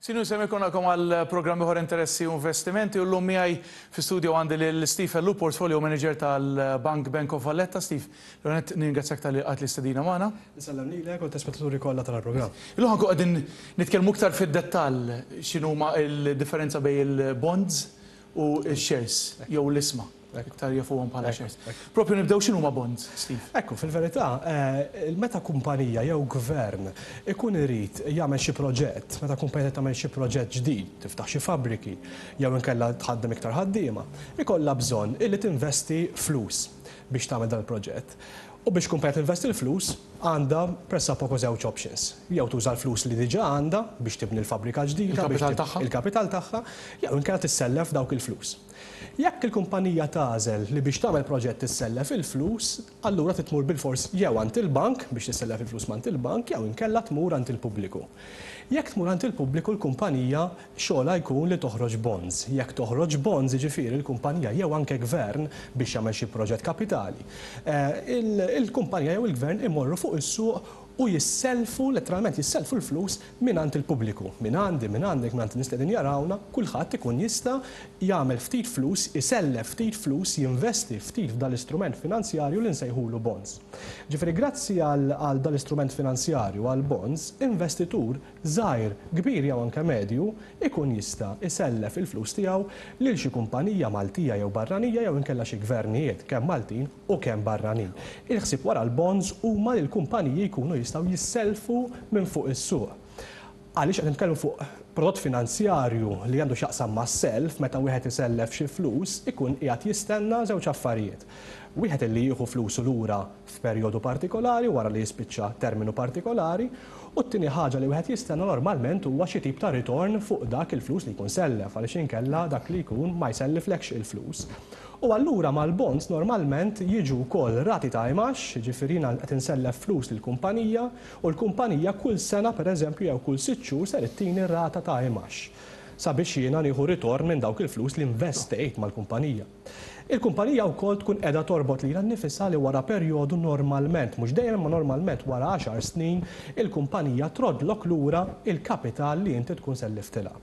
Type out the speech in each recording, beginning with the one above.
Sinjur Semmi konnakom għal programm ieħor Interessi u Investimenti u llum miegħi fi studio għandi lil Steve Ellu, Portfolio Manager tal-Bank Bank of Valletta. Steve, l-għonet ningrazzjak tal-li għat l-istedina magħna. Insellem lilek u t-telespettaturi kollha tal-programm. Illum ħankun qegħdin nitkellmu iktar fid-dettall x'inhuma l-differenza bejn il-bonds u x-shares jew l-isma. Iktar jafuhom bħala shares. Propju nibdew x'inhuma bonds, Steve? Ekku, fil-verità, meta kumpanija jew gvern ikun irid jagħmel xi proġett, meta kumpanija tagħmel xi proġett ġdid, tiftaħ xi fabbriki jew inkella tħaddem iktar ħaddiema, ikollha bżonn illi tinvesti flus biex tagħmel dan il-proġett. U biex kumpanija tinvesti l-flus, għandha pressappoco żewġ options. Jew tuża l-flus li diġà għandha biex tibni l-fabbrika ġdida, Il-kapital tagħha. Il-kapital tagħha, jew inkella tissellef dawk il-flus. Jekk il-kumpanija tagħżel li biex tagħmel proġett tissellef il-flus, allura trid tmur bilfors jew għand il-bank biex tissellef il-flus m'għand il-bank jew inkella tmur għand il-pubbliku. Jekk tmur għand il-pubbliku l-kumpanija xogħolha jkun li toħroġ bonds. Jekk toħroġ bonds, jiġifieri l-kumpanija jew anke gvern biex jagħmel xi proġett kapitali, il-kumpanija jew il-gvern imorru fuq is-suq u jissellfu, letteralment jissellfu l-flus mingħand il-pubbliku. Mingħandi, mingħandek, mingħand in-nies li qegħdin jarawna, kulħadd ikun jista' jagħmel ftit flus, isellef ftit flus, jinvesti ftit f'dan l-istrument finanzjarju li nsejħulu bonds. Ġifieri grazzi għal dan l-istrument finanzjarju, għall-bonds, investitur żgħir, kbir jew anke medju, ikun jista' jsellef il-flus tiegħu lil xi kumpanija Maltija jew barranija jew inkella xi gvernijiet, kemm Maltin u kemm barranin. Il-ħsieb wara l-bonds huma li l-kumpaniji jkunu jistgħu jissellfu minn fuq is-suq. Għaliex qed nitkellmu fuq prodott finanzjarju li għandu x'jaqsam mas-self, meta wieħed isellef xi flus ikun qiegħed jistenna żewġ affarijiet. Wieħed illi jieħu flusu lura f'perjodu partikolari wara li jispiċċa terminu partikolari, u t-tieni ħaġa li wieħed jistenna normalment huwa xi tip ta' ritorn fuq dak il-flus li jkun sellef għaliex inkella dak li jkun ma jselliflekx il-flus. U allura mal-bonds normalment jiġu wkoll rati ta' imgħax, jiġifieri jiena qed insellef flus lill-kumpanija u l-kumpanija kull sena pereżempju jew kull sitt xhur ser ittini rata ta' imgħax sabiex jiena nieħu ritorn minn dawk il-flus li investejt mal-kumpanija. Il-kumpanija wkoll tkun qiegħda torbot lilha nnifisha li wara perjodu normalment, mhux dejjem imma normalment wara għaxar snin, il-kumpanija troddlok lura il-kapital li inti tkun selliftilha.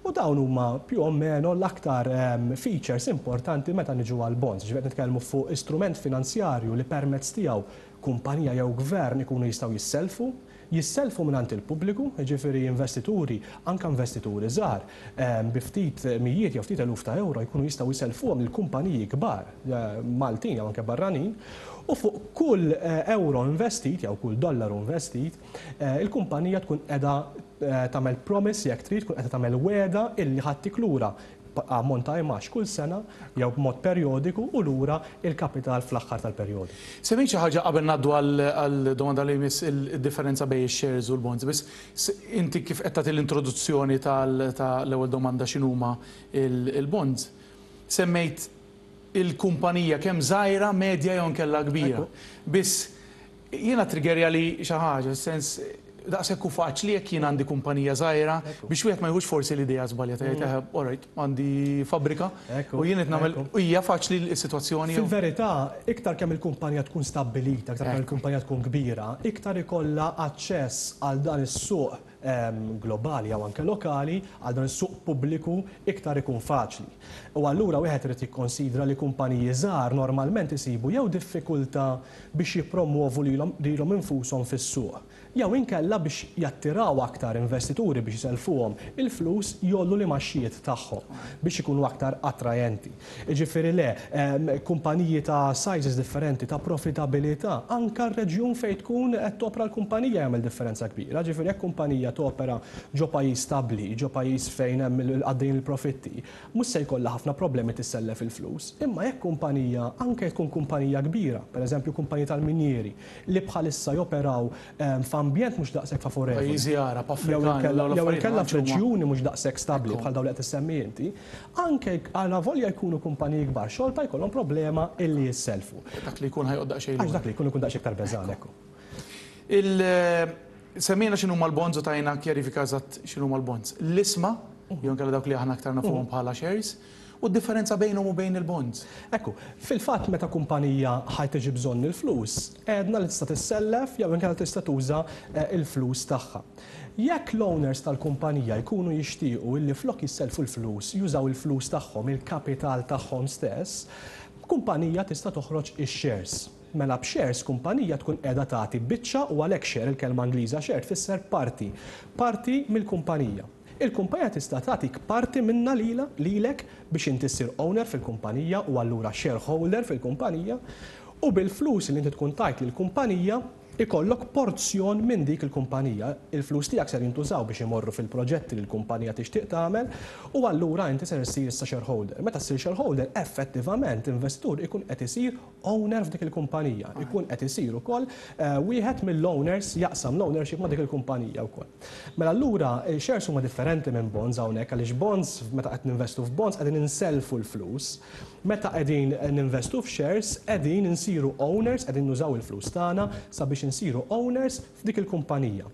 U dawn huma più o meno l-aktar features importanti meta niġu għall-bonds. Jiġifieri qed nitkellmu fuq istrument finanzjarju li permezz tiegħu kumpanija jew gvern ikunu jistgħu jissellfu, jissellfu mingħand il-pubbliku, jiġifieri investituri, anke investituri żgħar, bi ftit mijiet jew ftit eluf ta' ewro jkunu jistgħu jsellfuhom lil kumpaniji kbar, Maltin jew anke barranin, u fuq kull ewro investit jew kull dollaru investit, il-kumpanija tkun qiegħda tagħmel promise jekk trid, tkun qiegħda tagħmel wegħda illi ħa ttik lura ammont ta' imgħax kull sena jew b'mod perjodiku u lura l-kapital fl-aħħar tal-perjodu. Semmejt xi ħaġa qabel ngħaddu għall-domanda li jmiss id-differenza bejn ix-shares u l-bonds, biss inti kif qed tagħti l-introduzzjoni tal-ewwel domanda x'inhuma l-bonds, semmejt il-kumpanija kemm żgħira, medja jew inkella kbira. Biss Jiena triggerjali xi ħaġa, fis-sens daqshekk hu faċli jekk jien għandi kumpanija żgħira biex wieħed ma jieħux forsi l-idea żbaljata jgħid eħe all right għandi fabbrika u jien qed nagħmel hija faċli s-sitwazzjoni jew. Fil-verità, iktar kemm il-kumpanija tkun stabbilita, iktar kemm il-kumpanija tkun kbira, iktar ikollha aċċess għal dan is-suq globali jew anke lokali, għal dan is-suq pubbliku iktar ikun faċli. U allura wieħed irid jikkonsidra li kumpaniji żgħar normalment isibu jew diffikultà biex jippromwovu lilhom infushom fis-suq, jew inkella biex jattiraw aktar investituri biex isellfuhom il-flus jgħollu l-imgħaxxijiet tagħhom biex ikunu aktar attrajenti. Jiġifieri le, kumpaniji ta' sizes differenti, ta' profitabilità, anke r-reġjun fejn tkun qed topra l-kumpanija jagħmel differenza kbira. Jiġifieri jekk kumpanija topera ġo pajjiż stabbli, ġo pajjiż fejn hemm għaddejjin il-profitti, mhux se jkollha ħafna problemi tissellef il-flus. Imma jekk kumpanija, anke jekk tkun kumpanija kbira, pereżempju kumpaniji tal-minjieri, li bħalissa joperaw f'ambjent mhux daqshekk favorevoli. Pajjiżi Għarab, Afrikani, jew inkella f'reġjuni mhux daqshekk stabbli bħal dawn li qed issemmi inti, anke alavolja jkunu kumpaniji kbar xorta jkollhom problema illi jissellfu. Dak li jkun ħa joqgħod daqsxejn lura. Għax dak li jkun ikun daqsxejn iktar beżgħan, ekku. Semmejna x'inhuma l-bonds u tajna kjarifika eżatt x'inhuma l-bonds. L-isma, jew inkella dawk li aħna aktar nafuhom bħala shares. u d-differenza bejnhom u bejn il-bonds. Ekku, fil-fatt meta kumpanija ħa tiġi bżonn il-flus, għedna li tista' tissellef jew inkella tista' tuża l-flus tagħha. Jekk l-owners tal-kumpanija jkunu jixtiequ illi flok jissellfu l-flus jużaw il-flus tagħhom, il-kapital tagħhom stess, kumpanija tista' toħroġ ix-shares. Mela b'shares kumpanija tkun qiegħda tagħti biċċa u għalhekk share, il-kelma Ingliża share tfisser parti, parti mill-kumpanija. Il-kumpanija tista' tagħtik parti minnha lilha, lilek biex inti ssir owner fil-kumpanija u allura shareholder fil-kumpanija u bil-flus li inti tkun tajt lill-kumpanija ikollok porzjon minn dik il-kumpanija. Il-flus tiegħek ser jintużaw biex imorru fil-proġetti li l-kumpanija tixtieq tagħmel u allura inti ser issir issa shareholder. Meta ssir shareholder, effettivament investitur ikun qed isir owner f'dik il-kumpanija, ikun qed isir ukoll wieħed mill-owners, jaqsam l-ownership ma' dik il-kumpanija wkoll. Mela allura shares huma differenti minn bonds hawnhekk għaliex bonds, meta qed ninvestu f'bonds qegħdin insellfu l-flus. Meta qegħdin ninvestu f'shares qegħdin insiru owners, qegħdin nużaw il-flus tagħna sabiex insiru owners f'dik il-kumpanija.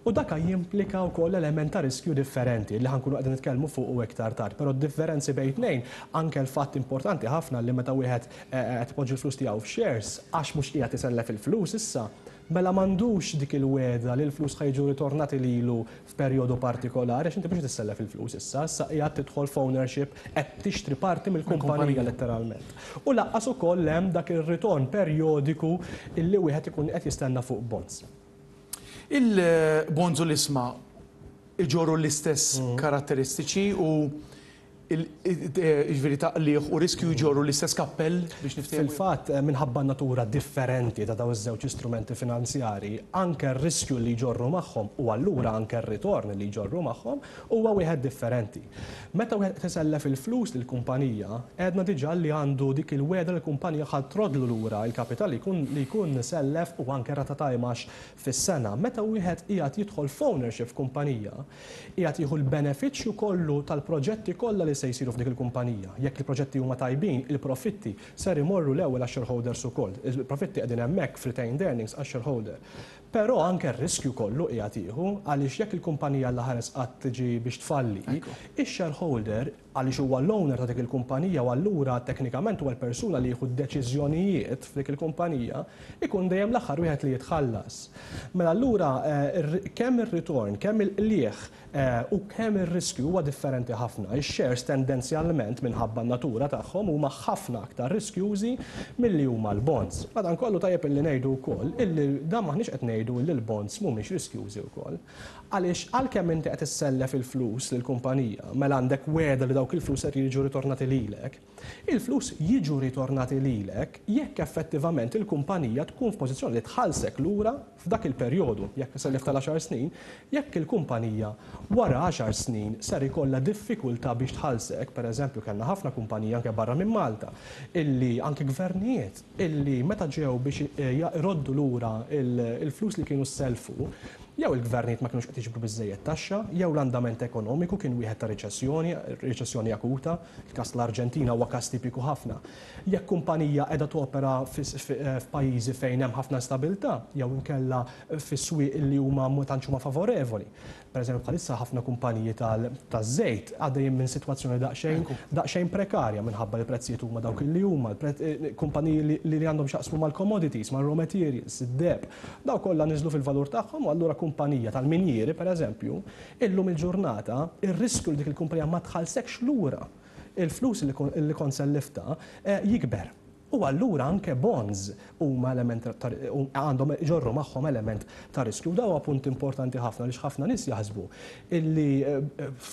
U dak jimplika wkoll element ta' riskju differenti li ħa nkunu qegħdin nitkellmu fuqu iktar tard. Però d-differenzi bejn tnejn, anke l-fatt importanti ħafna li meta wieħed qed ipoġġi l-flus tiegħu f'shares għax mhux qiegħed isellef il-flus issa, mela m'għandux dik il-wegħda li l-flus ħa jiġu ritornati lilu f'perjodu partikolari għax inti mhux qed issellef il-flus issa, issa qiegħed tidħol f'ownership, qed tixtri parti mill-kumpanija letteralment. U lanqas ukoll hemm dak ir-ritorn perjodiku illi wieħed ikun qed jistenna fuq bonds. Il-bonds u l-isma iġorru l-istess karatteristiċi u jiġifieri ta' qligħ u riskju jġorru l-istess kappell biex niftehmu? Fil-fatt, minħabba n-natura differenti ta' dawn iż-żewġ istrumenti finanzjarji, anke r-riskju li jġorru magħhom u allura anke r-ritorn li jġorru magħhom huwa wieħed differenti. Meta wieħed qed isellef il-flus lill-kumpanija, għedna diġà li għandu dik il-wegħda li l-kumpanija ħa trodlu lura l-kapital li jkun li jkun sellef u anke rata ta' imgħax fis-sena. Meta wieħed qiegħed jidħol f'ownership f'kumpanija, qiegħed jieħu l-benefiċċju kollu tal-proġetti kollha li se jsiru f'dik il-kumpanija. Jekk il-proġetti huma tajbin, il-profitti ser imorru l-ewwel għax-shareholders ukoll. Il-profitti qegħdin hemmhekk f'retained earnings għax-shareholder. Però anke r-riskju kollu qiegħed jieħu għaliex jekk il-kumpanija l-aħares qatt tiġi biex tfalli, ix-shareholder, għaliex huwa l-owner ta' dik il-kumpanija u allura teknikament huwa l-persuna li jieħu d-deċiżjonijiet f'dik il-kumpanija, ikun dejjem l-aħħar wieħed li jitħallas. Mela allura kemm ir-ritorn, kemm il-qligħ u kemm ir-riskju huwa differenti ħafna. Ix-shares tendenzjalment minħabba n-natura tagħhom huma ħafna aktar riskjużi milli huma l-bonds. Madankollu tajjeb illi ngħidu wkoll illi dan m'aħniex qed ngħidu illi l-bonds mhumiex riskjużi wkoll. Għaliex għalkemm inti qed issellef il-flus lill-kumpanija, mela għandek wegħda li dawk il-flus qed jiġu ritornati lilek. Il-flus jiġu ritornati lilek jekk effettivament il-kumpanija tkun f'pożizzjoni li tħallsek lura f'dak il-perjodu. Jekk sellif tal-għaxar snin, jekk il-kumpanija wara għaxar snin ser ikollha diffikultà biex tħallsek, pereżempju kellna ħafna kumpaniji anke barra minn Malta illi anke gvernijiet illi meta ġew biex jroddu lura l-flus li kienu ssellfu, jew il-gvernijiet ma kinux qed jiġbru biżżejjed taxxa, jew l-andament ekonomiku kien wieħed ta' riċessjoni, riċessjoni akuta, il-każ tal-Arġentina huwa każ tipiku ħafna. Jekk kumpanija qiegħda topera f'pajjiżi fejn hemm ħafna instabilità, jew inkella fi swieq li huma ma tantx huma favorevoli. Pereżempju bħalissa ħafna kumpaniji taż-żejt għaddejjin minn sitwazzjoni daqsxejn daqsxejn prekarja minħabba li l-prezzijiet huma dawk li huma, kumpaniji li għandhom x'jaqsmu mal-commodities, mar-raw materials, id-deheb, dawk kollha niżlu fil-valur tagħhom u allura kumpanija tal-minjieri pereżempju, illum il-ġurnata ir-riskju li dik il-kumpanija ma tħallsekx lura il-flus li kont selliftha jikber. U allura anke bonds huma element ta' għandhom iġorru magħhom element ta' riskju. U dan huwa punt importanti ħafna għaliex ħafna nies jaħsbu illi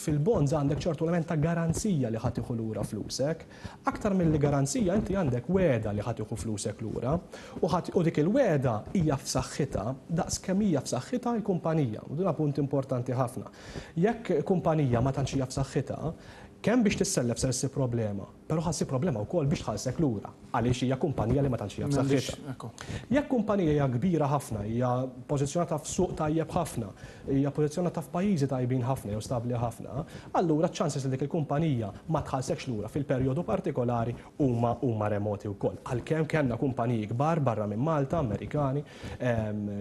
fil-bonds għandek ċertu element ta' garanzija li ħa tieħu lura flusek. Aktar milli garanzija inti għandek wegħda li ħa tieħu flusek lura u ħa u dik il-wegħda hija f'saħħitha daqs kemm hija f'saħħitha l-kumpanija. U dan huwa punt importanti ħafna. Jekk kumpanija ma tantx hija f'saħħitha, kemm biex tissellef ser issib problema. Però ħa ssib problema wkoll biex tħallsek lura għaliex hija kumpanija li ma tantx hija b'saħħitha. Jekk kumpanija hija kbira ħafna, hija pożizzjonata f'suq tajjeb ħafna, hija pożizzjonata f'pajjiżi tajbin ħafna jew stabbli ħafna, allura ċ-chances li dik il-kumpanija ma tħallsekx lura fil-perjodu partikolari huma huma remoti wkoll. Għalkemm kellna kumpaniji kbar barra minn Malta, Amerikani,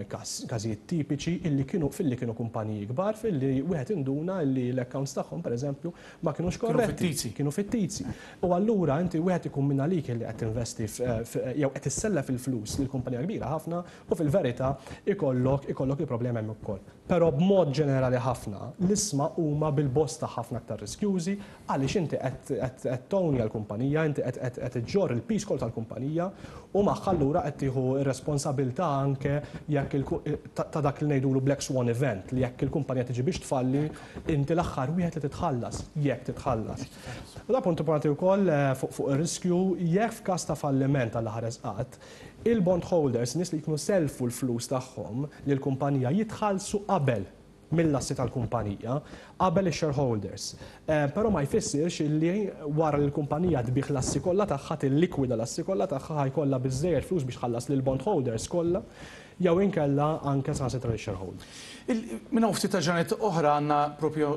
każijiet tipiċi illi kienu filli kienu kumpaniji kbar filli wieħed induna illi l-accounts tagħhom pereżempju ma kinux korretti. Kienu fittizi. U allura inti wieħed ikun minn għalik li qed tinvesti jew qed issellef il-flus lil kumpanija kbira ħafna u fil-verità ikollok ikollok il-problemi hemm ukoll. Però b'mod ġenerali ħafna l-ishma huma bil-bosta ħafna aktar riskjużi għaliex inti qed townja l-kumpanija, inti qed iġġorr il-piż kollu tal-kumpanija u magħha allura qed tieħu r-responsabilità anke jekk ta' dak li ngħidulu black swan event li jekk il-kumpanija tiġi biex tfalli Inti l-aħħar wieħed li titħallas, jekk titħallas. U da punt importanti wkoll fuq ir-riskju, jekk f'każ ta' falliment Alla ħares qatt, il-bond holders, nies li jkunu sellfu l-flus tagħhom lill-kumpanija jitħallsu qabel mill-assi tal-kumpanija, qabel ix-shareholders. Però ma jfissirx illi wara li l-kumpanija tbigħ l-assi kollha tagħha, tillikwida l-assi kollha tagħha, ħa jkollha biżżejjed flus biex tħallas lill-bond holders kollha. Jew inkella anke saħansitra lix-shareholders. Minn hawn ftit ta' ġranet oħra għandna propju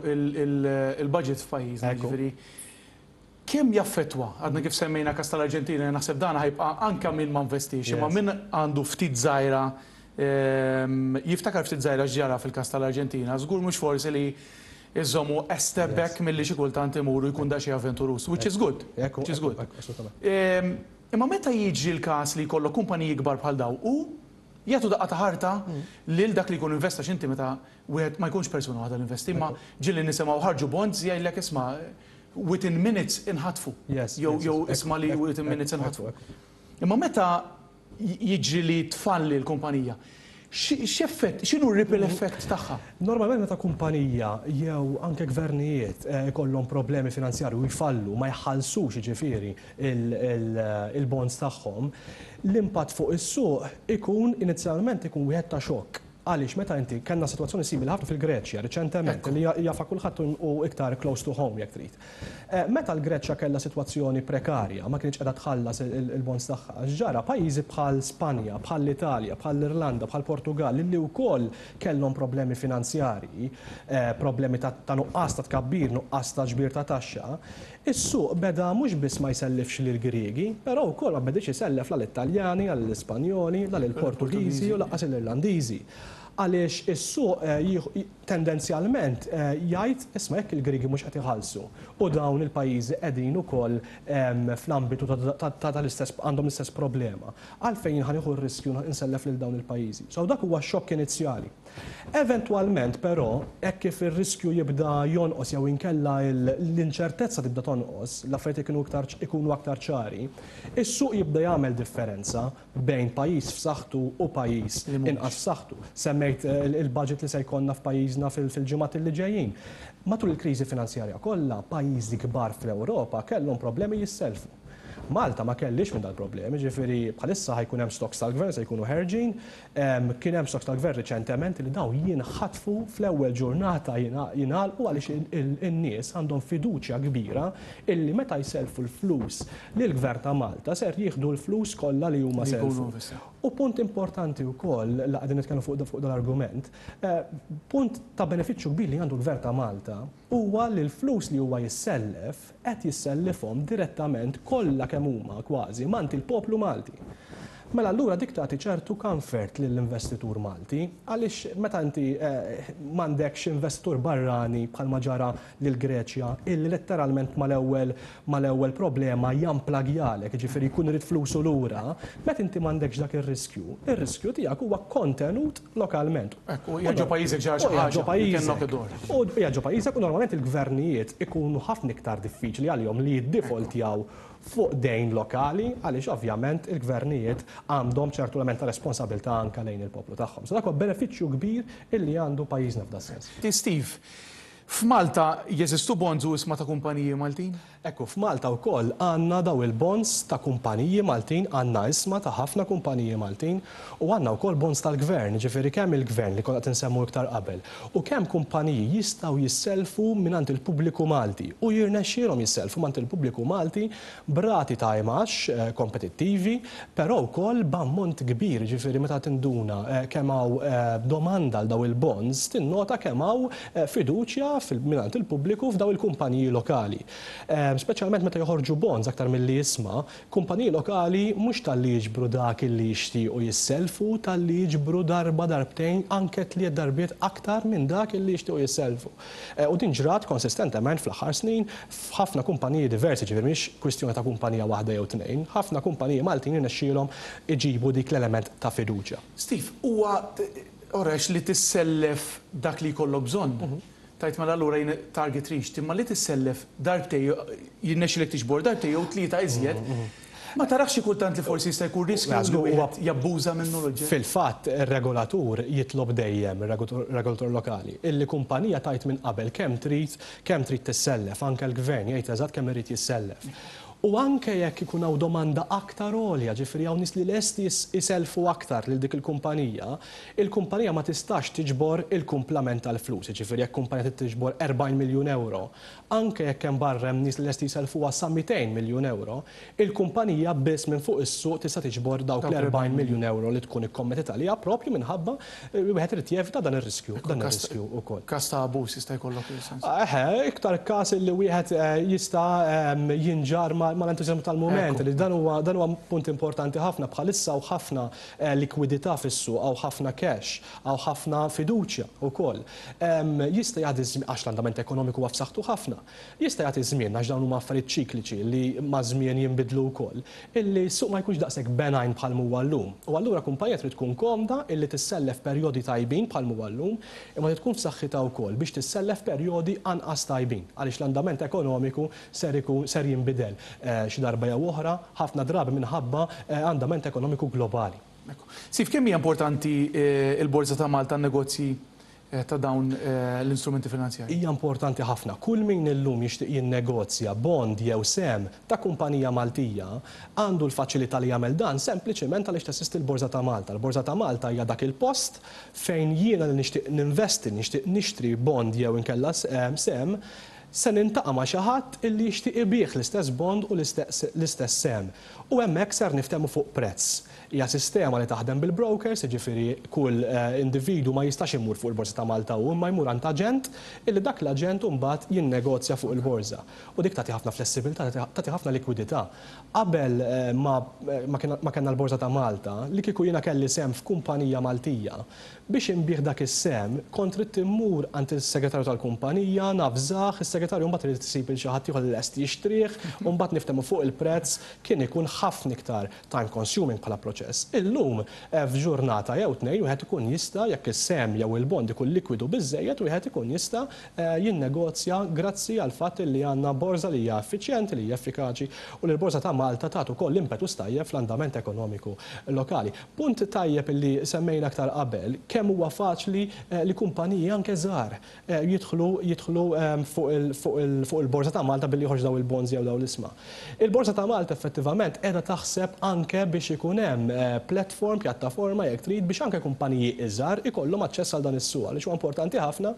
il-budget f'pajjiżna, jiġifieri kemm jaffettwa, għadna kif semmejna każ tal-Arġentina, naħseb dan ħa jibqa' anke min ma nvestiex, imma min għandu ftit żgħira jiftakar ftit żgħira x'ġara fil-każ tal-Arġentina, żgur mhux forsi li iżommu a step back milli xi kultant imur u jkun daqsxejn avventuruż, which is good, which is good. Imma meta jiġri l-każ li jkollok kumpaniji kbar bħal dawn u jagħtu daqqa ta' ħarta lil dak li jkun investa għax inti meta wieħed ma jkunx persuna waħda li investi imma ġieli nisimgħu ħarġu bonds jgħidlek isma' within minutes inħatfu jew jew isma' li within minutes inħatfu. Imma meta jiġri li tfalli l-kumpanija, x'effett, x'inhu r-ripple effect tagħha? Normalment meta kumpanija jew anke gvernijiet ikollhom problemi finanzjarji u jfallu, ma jħallsux jiġifieri il-bonds tagħhom, l-impatt fuq is-suq ikun inizjalment ikun wieħed ta' xokk. Għaliex meta inti, kellna sitwazzjoni simili ħafna fil-Greċja riċentement li jafha kulħadd u iktar close to home jekk trid. Meta l-Greċja kellha sitwazzjoni prekarja, ma kinitx qiegħda tħallas il-bonds tagħha, x'ġara? Pajjiżi bħal Spanja, bħall-Italja, bħall-Irlanda, bħall-Portugall li wkoll kellhom problemi finanzjarji, problemi ta' nuqqas ta' tkabbir, nuqqas ta' ġbir ta' taxxa, is-suq beda mhux biss ma jsellifx lill-Griegi, però wkoll ma bediex isellef la lit-Taljani, la lill-Ispanjoli, la lill-Portugiżi u lanqas lill-Irlandiżi. Għaliex is-suq tendenzjalment jgħid, isma' jekk il-Griegi mhux qed iħallsu u dawn il-pajjiżi qegħdin ukoll fl-ambitu ta' tal-istess għandhom l-istess problema, għalfejn jien ħa nieħu r-riskju nsellef lil dawn il-pajjiżi? So dak huwa x-xokk inizjali. Eventwalment però, hekk kif ir-riskju jibda jonqos jew inkella l-inċertezza tibda tonqos, l-affarijiet ikunu iktar ikunu aktar ċari, is-suq jibda jagħmel differenza bejn pajjiż f'saħħtu u pajjiż inqas f'saħħtu. Semmejt il-budget li se jkollna f'pajjiżna fil-ġimgħat li ġejjin. Matul il-kriżi finanzjarja kollha, pajjiżi kbar fl-Ewropa kellhom problemi jissellfu. Malta ma kellhiex minn dal-problemi, ġifieri bħalissa ħa jkun hemm stocks tal-gvern se jkunu ħerġin, kien hemm stocks tal-gvern riċentement li dawn jinħatfu fl-ewwel ġurnata jingħalqu għaliex in-nies għandhom fiduċja kbira illi meta jsellfu l-flus lill-Gvern ta' Malta ser jieħdu l-flus kollha li huma sellfu. U punt importanti wkoll, la qegħdin nitkellmu fuq dal-argument, punt ta' benefiċċju kbir li għandu l-Gvern ta' Malta huwa li l-flus li huwa jissellef qed jissellifhom direttament kollha kemm huma kważi m'għand il-poplu Malti. Mela allura dik tagħti ċertu comfort lill-investitur Malti għaliex meta inti m'għandekx investitur barrani bħalma ġara lill-Greċja illi letteralment mal-ewwel mal-ewwel problema jamplagjalek, jiġifieri jkun irid flusu lura, meta inti m'għandekx dak ir-riskju, ir-riskju tiegħek huwa kontenut lokalment. Hekk, u qiegħed ġo pajjiżek ġara xi ħaġa, you can knock a door. U qiegħed ġo pajjiżek u normalment il-gvernijiet ikunu ħafna iktar diffiċli għalihom li jiddifoltjaw fuq dejn lokali għaliex ovvjament il-gvernijiet għandhom ċertu element ta' responsabilità anke lejn il-poplu tagħhom. So dak huwa benefiċċju kbir illi għandu pajjiżna f'das-sens. Steve, F'Malta jeżistu bonds u ishma ta' kumpaniji Maltin? Ekku, f'Malta wkoll għandna daw il-bonds ta' kumpaniji Maltin, għandna ishma ta' ħafna kumpaniji Maltin u għandna wkoll bonds tal-gvern, jiġifieri kemm il-gvern li konna qed insemmu iktar qabel u kemm kumpaniji jistgħu jissellfu mingħand il-pubbliku Malti u jirnexxielhom jissellfu mingħand il-pubbliku Malti b'rati ta' imgħax kompetittivi, però wkoll b'ammont kbir, jiġifieri meta tinduna kemm hawn domanda għal dawn il-bonds, tinnota kemm hawn fiduċja mingħand il-pubbliku f'dawn il-kumpaniji lokali. Speċjalment meta joħorġu bonds aktar milli ishma, kumpaniji lokali mhux talli jiġbru dak illi jixtiequ jissellfu, talli jiġbru darba, darbtejn, anke tliet darbiet aktar minn dak illi jixtiequ jissellfu. U din ġrat konsistentement fl-aħħar snin f'ħafna kumpaniji diversi, ġifieri mhix kwistjoni ta' kumpanija waħda jew tnejn, ħafna kumpaniji Maltin irnexxielhom iġibu dik l-element ta' fiduċja. Steve, huwa orex li tissellef dak li jkollok bżonn. Tgħid mela allura jien target reached, imma li tissellef darbtejn, jirnexxilek tiġbor darbtejn jew tlieta iżjed, Ma tarax xi kultant li forsi jista' jkun riskju li wieħed jabbuża minnu l-oġġett? Fil-fatt, ir-regolatur jitlob dejjem, ir-regolatur lokali, illi kumpanija tgħid minn qabel kemm trid kemm trid tissellef, anke l-gvern jgħid eżatt kemm irid jissellef. U anke jekk ikun hawn domanda aktar għolja, ġifieri hawn nies li lesti jsellfu aktar lil dik il-kumpanija, il-kumpanija ma tistax tiġbor il-kumplament tal-flus. Jiġifieri jekk kumpanija trid tiġbor 40 miljun ewro, anke jekk hemm barra hemm nies li lesti jsellfuha sa 200 miljun ewro, il-kumpanija biss minn fuq is-suq tista' tiġbor dawk l-40 miljun ewro li tkun ikkommetit għaliha proprju minħabba li wieħed irid jevita dan ir-riskju, dan ir-riskju wkoll. Każ ta' abbuż jista' jkollok fis-sens. Eħe, iktar każ li wieħed jista' jinġarr mal-entużjażmu tal-mument, li dan huwa dan huwa punt importanti ħafna. Bħalissa hawn ħafna likwidità fis-suq, hawn ħafna cash, hawn ħafna fiduċja wkoll. Jista' jgħaddi ż-żmien, għax l-andament ekonomiku huwa f'saħħtu ħafna, jista' jagħti ż-żmien, għax dawn huma affarijiet ċikliċi li maż-żmien jinbidlu wkoll, illi s-suq ma jkunx daqshekk benign bħal m'huwa llum. U allura kumpanija trid tkun komda illi tissellef perjodi tajbin bħal m'huwa llum, imma trid tkun f'saħħitha wkoll biex tissellef perjodi anqas tajbin, għaliex l-andament ekonomiku ser ikun ser jinbidel xi darba jew oħra, ħafna drabi minħabba andament ekonomiku globali. Ekku. Steve, kemm hija importanti l-Borża ta' Malta għan-negozji ta' dawn l-instrumenti finanzjarji? Hija importanti ħafna. Kull min illum jixtieq jinnegozja bond jew sehem ta' kumpanija Maltija għandu l-faċilità li jagħmel dan sempliċement għaliex teżisti l-Borża ta' Malta. Il-Borża ta' Malta hija dak il-post fejn jiena li nixtieq ninvesti, nixtieq nixtri bond jew inkella sehem, se niltaqa' ma' xi ħadd illi jixtieq ibigħ l-istess bond u l-istess sehem. U hemmhekk ser niftehmu fuq prezz. Hija sistema li taħdem bil-brokers, jiġifieri kull individwu ma jistax imur fuq il-Borża ta' Malta hu imma jmur għand aġent illi dak l-aġent imbagħad jinnegozja fuq il-borża. U dik tagħti ħafna flessibilità, tagħti ħafna likwidità. Qabel ma ma kellna l-Borża ta' Malta, li kieku jiena kelli sehem f'kumpanija Maltija, biex inbigħ dak is-sehem kont ridt immur għand is-segretarju tal-kumpanija, navżah, is-segretarju mbagħad irid isib lil xi ħadd ieħor li lest jixtrih, u mbagħad niftehmu fuq il-prezz, kien ikun ħafna iktar time consuming bħala proċess. Illum, f'ġurnata jew tnejn wieħed ikun jista', jekk is-sehem jew il-bond ikun likwidu biżżejjed, wieħed ikun jista' jinnegozja grazzi għall-fatt li għandna borża li hija effiċjenti, li hija effikaċi u li l-Borża ta' Malta tat ukoll impetus tajjeb fl-andament ekonomiku lokali. Punt tajjeb li semmejna aktar qabel, kemm huwa faċli li kumpaniji anke żgħar jidħlu jidħlu fuq il-Borża ta' Malta billi joħorġu dawn il-bonds jew dawn l-ishma. Il-Borża ta' Malta effettivament qiegħda taħseb anke biex ikun hemm platform, pjattaforma jekk trid, biex anke kumpaniji iżgħar ikollhom aċċess għal dan is-suq għaliex huwa importanti ħafna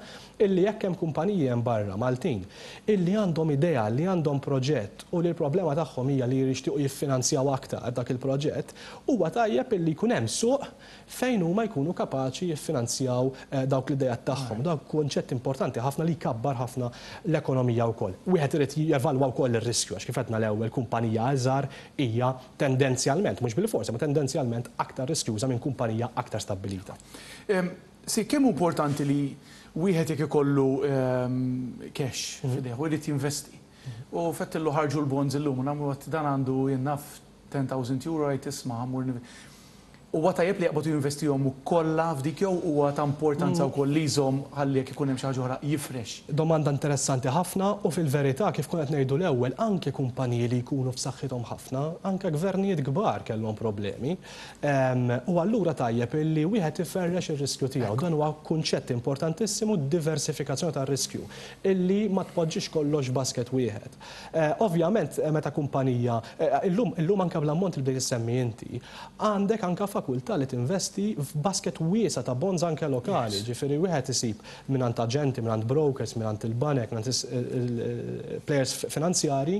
illi jekk hemm kumpaniji hemm barra Maltin illi għandhom idea, li għandhom proġett u li l-problema tagħhom hija li jixtiequ jiffinanzjaw aktar dak il-proġett, huwa tajjeb illi jkun hemm suq fejn huma jkunu kapaċi jiffinanzjaw dawk l-ideat tagħhom. Dak kunċett importanti ħafna li jkabbar ħafna l-ekonomija wkoll. Wieħed irid jevalwa wkoll ir-riskju għax kif għedna l-ewwel kumpanija iżgħar hija tendenzjalment, mhux bilfors, imma tendenzjalment aktar riskjuża minn kumpanija aktar stabbilita. Si, kemm hu importanti li wieħed jekk ikollu cash f'idejh u jrid jinvesti u fettillu ħarġu l-bonds illum u nagħmlu għad dan għandu jien naf 10,000 euro jgħid isma' ħa mmur. Huwa tajjeb li jaqbad u jinvestihom kollha f'dik jew huwa ta' importanza wkoll li jżomm ħalli jekk ikun hemm xi ħaġa oħra jifrex? Domanda interessanti ħafna u fil-verità kif konna qed ngħidu l-ewwel anke kumpaniji li jkunu f'saħħithom ħafna, anke gvernijiet kbar kellhom problemi. U allura tajjeb illi wieħed iferrex ir-riskju tiegħu. Dan huwa kunċett importantissimu, diversifikazzjoni tar-riskju, illi ma tpoġġix kollox f'basket wieħed. Ovvjament meta kumpanija, illum illum anke bl-ammont li bdejt issemmi inti, Għandek anke fakultà li tinvesti f'basket wiesa' ta' bonds anke lokali, ġifieri wieħed isib mingħand aġenti, mingħand brokers, mingħand il-banek, mingħand il-players finanzjarji,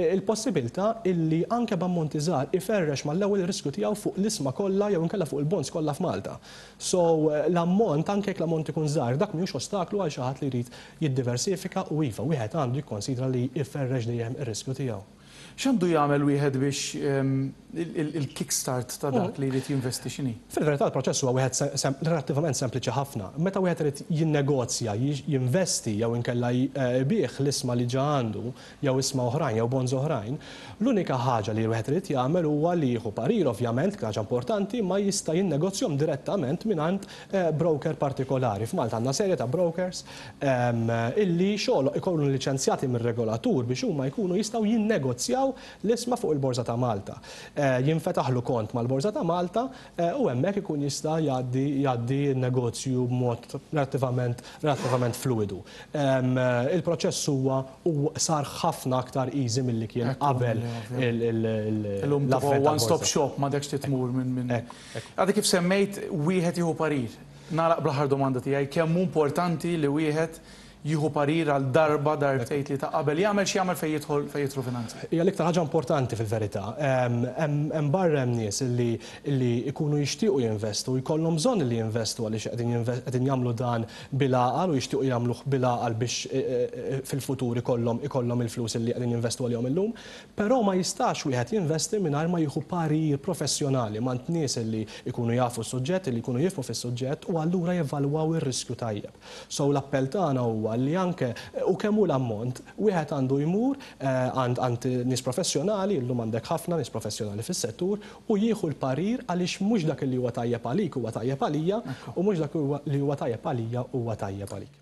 il-possibilità illi anke b'ammonti żgħar iferrex mal-ewwel ir-riskju tiegħu fuq l-ishma kollha jew inkella fuq il-bonds kollha f'Malta. So l-ammont, anke jekk l-ammont ikun żgħir, dak mhijiex ostaklu għal xi ħadd li jrid jiddiversifika u iva, wieħed għandu jikkonsidra li jferrex dejjem ir-riskju tiegħu. X'għandu jagħmel wieħed biex il-kick-start ta' dak li jrid jinvesti x'inhi? Fil-verità l-proċess huwa wieħed relattivament sempliċi ħafna. Meta wieħed irid jinnegozja, jinvesti jew inkella jbigħ l-ishma li ġa għandu jew ishma oħrajn jew bonds oħrajn, l-unika ħaġa li wieħed irid jagħmel huwa li jieħu parir ovvjament, ħaġa importanti, imma jista' jinnegozjahom direttament mingħand broker partikolari. F'Malta għandna serje ta' brokers illi xogħol ikunu liċenzjati mir-regolatur biex huma jkunu jistgħu jinnegozjaw l-ishma fuq il-Borża ta' Malta. Jinfetaħlu kont mal-Borża ta' Malta u hemmhekk ikun jista' jgħaddi jgħaddi n-negozju b'mod relattivament relattivament fluwidu. Il-proċess huwa u sar ħafna aktar easy milli kien qabel l-avvent tal-borża. One stop shop m'għandekx trid tmur minn. Għadek kif semmejt wieħed jieħu parir. Nagħlaq bl-aħħar domanda tiegħi, kemm hu importanti li wieħed jieħu parir għal darba, darbtejn, tlieta qabel jagħmel x'jagħmel fejn jidħol fejn jidħlu finanzi? Hija l-iktar ħaġa importanti fil-verità. Hemm barra hemm nies li li jkunu jixtiequ jinvestu, jkollhom bżonn li jinvestu għaliex qegħdin qegħdin jagħmlu dan bil-għaqal u jixtiequ jagħmluh bil-għaqal biex fil-futur ikollhom ikollhom il-flus li qegħdin jinvestu għalihom illum. Però ma jistax wieħed jinvesti mingħajr ma jieħu parir professjonali m'għand nies li jkunu jafu s-suġġett, li jkunu jifhmu fis-suġġett u allura jevalwaw ir-riskju tajjeb. So l-appell tagħna huwa li anke, u kemm hu l-ammont, wieħed għandu jmur għand għand nies professjonali, illum għandek ħafna nies professjonali fis-settur, u jieħu l-parir għaliex mhux dak li huwa tajjeb għalik huwa tajjeb għalija u mhux dak li huwa tajjeb għalija huwa tajjeb għalik.